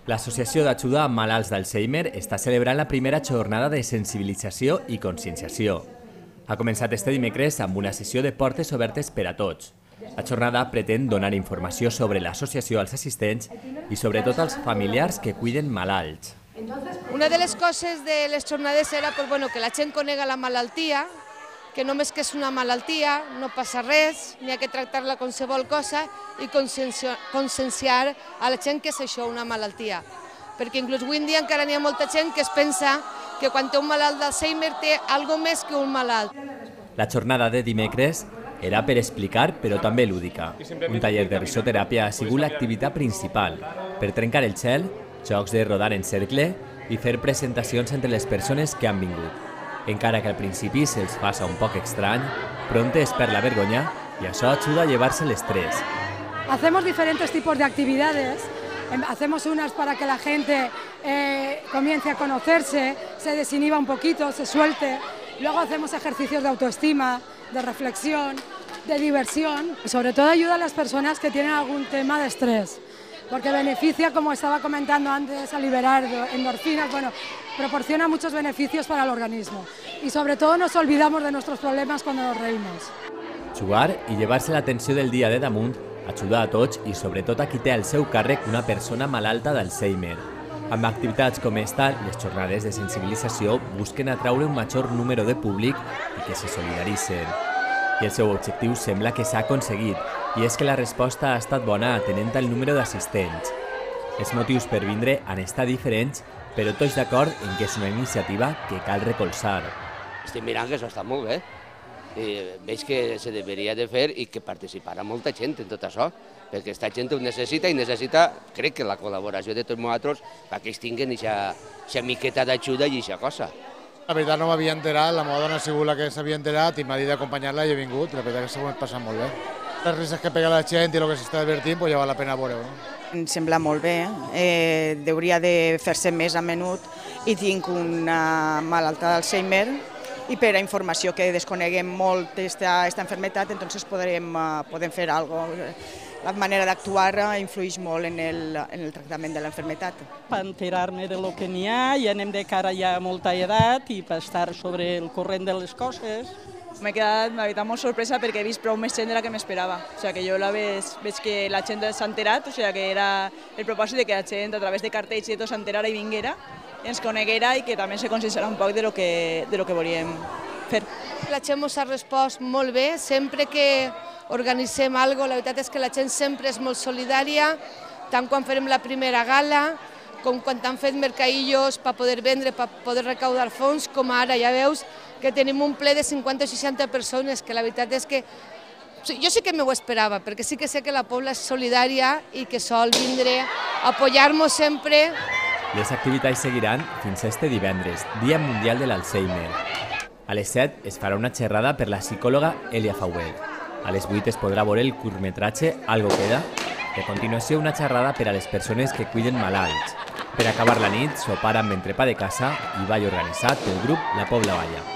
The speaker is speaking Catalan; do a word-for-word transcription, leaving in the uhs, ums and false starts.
L'Associació d'Ajuda a Malalts d'Alzheimer està celebrant la primera jornada de sensibilització i conscienciació. Ha començat este dimecres amb una sessió de portes obertes per a tots. La jornada pretén donar informació sobre l'associació als assistents i sobretot als familiars que cuiden malalts. Una de les coses de les jornades era pues, bueno, que la gent conega la malaltia, que només que és una malaltia, no passa res, n'hi ha que tractar-la com qualsevol cosa i conscienciar a la gent que és això, una malaltia. Perquè inclús avui en dia encara n'hi ha molta gent que es pensa que quan té un malalt d'Alzheimer té alguna més que un malalt. La jornada de dimecres era per explicar, però també lúdica. Un taller de risoteràpia ha sigut l'activitat principal, per trencar el gel, jocs de rodar en cercle i fer presentacions entre les persones que han vingut. Encara que al principi se'ls faça un poc estrany, pronto es perd la vergonya y eso ayuda a llevarse el estrés. Hacemos diferentes tipos de actividades, hacemos unas para que la gente eh, comience a conocerse, se desinhiba un poquito, se suelte, luego hacemos ejercicios de autoestima, de reflexión, de diversión, y sobre todo ayuda a las personas que tienen algún tema de estrés, porque beneficia, como estaba comentando antes, a liberar endorfinas, bueno, proporciona muchos beneficios para el organismo y sobre todo nos olvidamos de nuestros problemas cuando nos reímos. Jugar i llevar-se l'atenció del dia de damunt ajuda a tots i sobretot a qui té al seu càrrec una persona malalta d'Alzheimer. Amb activitats com esta, les jornades de sensibilització busquen atraure un major número de públic i que se solidaritzen. I el seu objectiu sembla que s'ha aconseguit, i és que la resposta ha estat bona atenent al número d'assistents. Els motius per vindre han estat diferents, però tots d'acord en que és una iniciativa que cal recolzar. Estic mirant que això està molt bé. I veig que se deveria de fer i que participarà molta gent en tot això, perquè aquesta gent ho necessita i necessita, crec que la col·laboració de tots nosaltres perquè ells tinguin aquesta miqueta d'ajuda i aquesta cosa. La veritat no m'havia enterat, la meva dona ha sigut la que s'havia enterat i m'ha dit d'acompanyar-la i he vingut, la veritat que s'ho hem passat molt bé. Les risques que pega la gent i el que s'està divertint, doncs ja val la pena veure-ho. Em sembla molt bé, eh, hauria de fer-se més a menut i tinc una malalta d'Alzheimer i per a informació que desconeguem molt aquesta malaltia, doncs podem, podem fer alguna cosa. La manera d'actuar influeix molt en el, en el tractament de la malaltia. Per enterar-me de lo que n'hi ha, ja anem de cara ja a molta edat i per estar sobre el corrent de les coses. M'he quedat, la veritat, molt sorpresa perquè he vist prou més gent de la que m'esperava. O sigui, que jo la veig, veig que la gent s'ha enterat, o sigui, que era el propòsit de que la gent a través de cartells i tot s'enterara i vinguera, ens coneguera i que també se conscienciara un poc de lo que, de lo que volíem fer. La gent ens ha respost molt bé, sempre que organitzem alguna cosa, la veritat és que la gent sempre és molt solidària, tant quan farem la primera gala, com quan han fet mercadillos per poder vendre, per poder recaudar fons, com ara ja veus que tenim un ple de cinquanta o seixanta persones, que la veritat és que jo sí que m'ho esperava, perquè sí que sé que la Pobla és solidària i que sol vindre a apoyar-nos sempre. Les activitats seguiran fins este divendres, Dia Mundial de l'Alzheimer. A les set es farà una xerrada per la psicòloga Elia Fauel. A les vuit es podrà veure el curtmetratge Algo queda. I a continuació una xerrada per a les persones que cuiden malalts. Per acabar la nit, sopar amb entrepà de casa i ball organitzat pel grup La Pobla Balla.